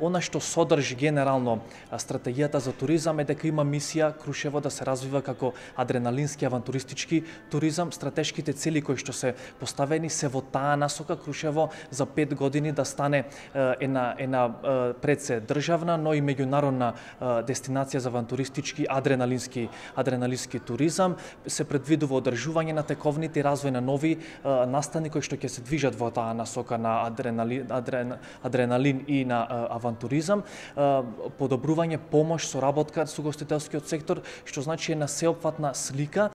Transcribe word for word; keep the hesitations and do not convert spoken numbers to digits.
Она што содржи генерално стратегијата за туризам е дека има мисија Крушево да се развива како адреналински авантуристички туризам. Стратешките цели кои што се поставени се во таа насока Крушево за пет години да стане една една пред се државна, но и меѓународна дестинација за авантуристички адреналински адреналински туризам. Се предвидува одржување на тековните и развој на нови настани кои што ќе се движат во таа насока на адреналин, адрен, адреналин и на авантуризам, подобрување помош, соработка со гостителскиот сектор, што значи една сеопфатна слика